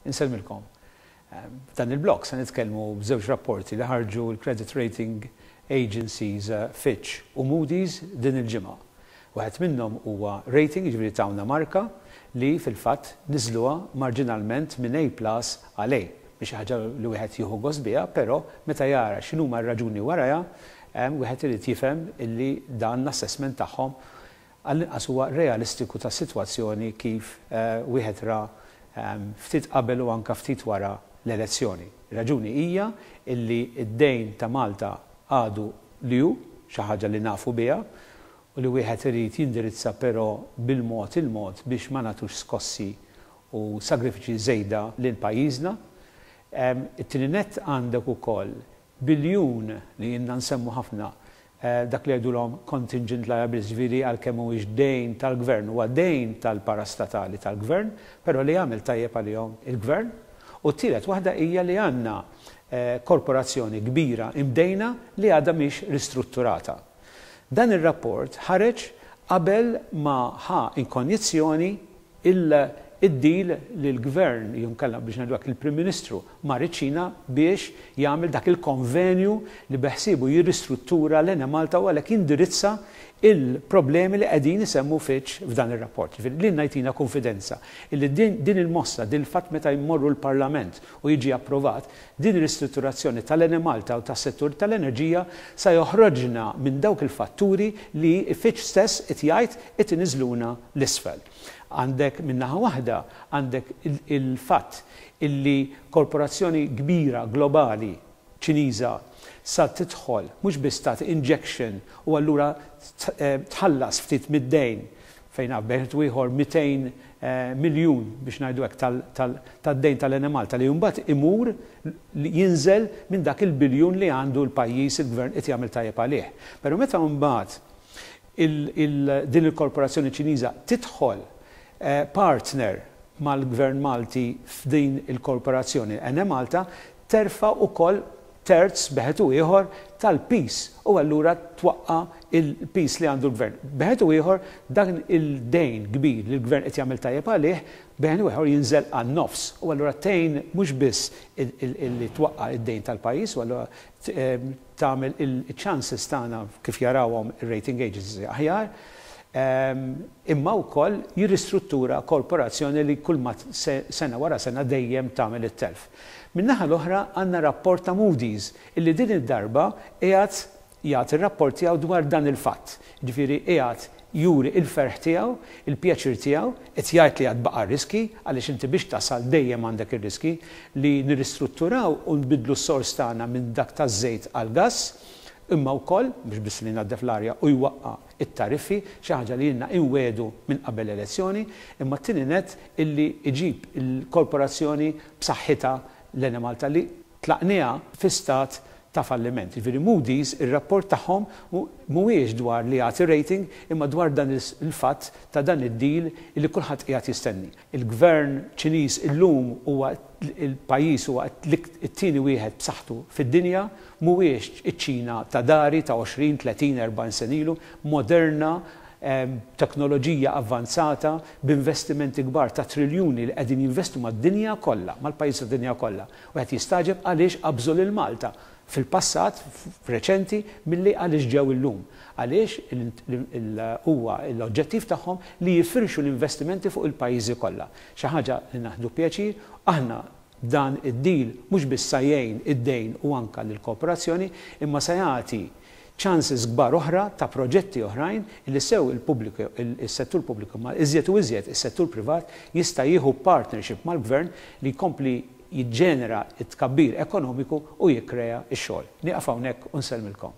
Insellmilkom. F'dan il-blog se nitkellmu b'żewġ rapporti li ħarġu l-credit rating agencies Fitch u Moody's din il-ġimgħa. Wieħed minnhom huwa rating, jiġifieri tawna marka li fil-fatt niżluha marġinalment minn A plus għal A. Mhix xi ħaġa li wieħed jieħu gost biha, però meta jara x'inhuma r-raġuni warajha, wieħed irid jifhem illi dan l-assessment tagħhom għall-inqas huwa realistiku tas-sitwazzjoni kif wieħed ra ftit qabel u anke ftit wara l-elezzjoni. Ir-raġuni hija illi d-dejn ta' Malta għadu li hu, xi ħaġa li nafu biha u li wieħed irid jindirizza però bil-mod il-mod biex ma nagħtux skossi u sagrifiċi żejda lil pajjiżna. It-tieni nett għandek ukoll biljun li ilna nsemmu ħafna dak li jgħidulhom contingent liabilities, jiġifieri għalkemm mhuwiex dejn tal-gvern, huwa dejn tal-parastatali tal-gvern, però li jagħmel tajjeb għalihom il-gvern. U t-tielet waħda hija li għandna korporazzjoni kbira imdejna li għadha mhix ristrutturata. Dan ir-rapport ħareġ qabel ma ħa inkonjizzjoni id-deal li l-Gvern, jew inkella biex ngħidu hekk il-Prim Ministru mar iċ-Ċina biex jagħmel dak il-konvenju li beħsiebu jirristruttura l-Enemalta u għalhekk jindirizza il-problemi li qegħdin isemmu Fitch f'dan ir-rapport. Jiġifieri lilna jtina kunfidenza illi din il-mossa, din il-fatt meta jmorru l-Parlament u jiġi approvat, din ir-ristrutturazzjoni tal-Enemalta u tas-settur tal-enerġija sa joħroġna minn dawk il-fatturi li Fitch stess qed jgħid qed iniżżluna 'l isfel. Għandek minn naħa waħda għandek il-fatt illi korporazzjoni kbira globali Ċiniża sa tidħol mhux biss tagħti injection u allura tħallas ftit mid-dejn fejn naf bejn u ieħor 200 miljun biex ngħidu hekk tad-dejn tal-Enemalta li mbagħad imur jinżel minn dak il-biljun li għandu l-pajjiż il-gvern qed jagħmel tajjeb għalih. Però meta mbagħad din il-korporazzjoni Ċiniża tidħol partner mal-Gvern Malti f'din il-korporazzjoni Enemalta, terfa' wkoll terz b'eħed u ieħor tal-piż u allura twaqqa' l-piż li għandu l-Gvern. B'eħed u ieħor dan il-dejn kbir li l-Gvern qed jagħmel tajjeb għalih b'eħed u ieħor jinżel għan-nofs u allura tgħin mhux biss li twaqqa' d-dejn tal-pajjiż u allura tagħmel il-chances tagħna kif jarawhom ir-rating agencies aħjar, imma wkoll jirristruttura korporazzjoni li kull ma sena wara sena dejjem tagħmel it-telf. Min-naħa l-oħra għandna rapport ta' Moody's illi din id-darba qiegħed jagħti r-rapport tiegħu dwar dan il-fatt. Jiġifieri qiegħed juri l-ferħ tiegħu, il-pjaċir tiegħu, qed jgħid li għad baqa' riski, għaliex inti biex tasal dejjem għandek ir-riski, li nirristrutturaw u nbiddlu s-sors tagħna minn dak taż-żejt għall-gass, imma wkoll, mhux biss li jnaddef l-arja u jwaqqa' t-tariffi, xi ħaġa li ilna inwiegħdu minn qabel l-elezzjoni, imma t-tieni nett illi jġib il-korporazzjoni b'saħħitha l-Enemalta li tlaqniha fi stat ta' falliment. Jiġifieri Moody's, ir-rapport tagħhom mhuwiex dwar li jagħti rating imma dwar dan il-fatt ta' dan id-deal li kulħadd qiegħed jistenni. Il-Gvern Ċiniż illum huwa il-pajjiż huwa t-tieni wieħed b'saħħtu fid-dinja, mhuwiex iċ-Ċina ta' dari ta' 20, 30, 40 sena ilu, moderna, b'teknoloġija avvanzata, b'investimenti kbar ta' triljuni li qegħdin jinvestu mad-dinja kollha, mal-pajjiżi tad-dinja kollha. Wieħed jistagħġeb għaliex qabżu lil Malta fil-passat reċenti milli għaliex ġew illum. Għaliex huwa l-oġġettiv tagħhom li jifirxu l-investimenti fuq il-pajjiżi kollha. Xi ħaġa li naħdu pjaċir, aħna dan id-deal mhux biss sa jgħin id-dejn u anke lill-kooperazzjoni imma sa jagħti chances kbar oħra ta' proġetti oħrajn li sew il-pubbliku, is-settur pubbliku imma iżjed u iżjed is-settur privat jista' jieħu partnership mal-Gvern li jkompli jiġġenera t-tkabbir ekonomiku u jikkrea x-xogħol. Nieqaf hawnhekk u nsellmilkom.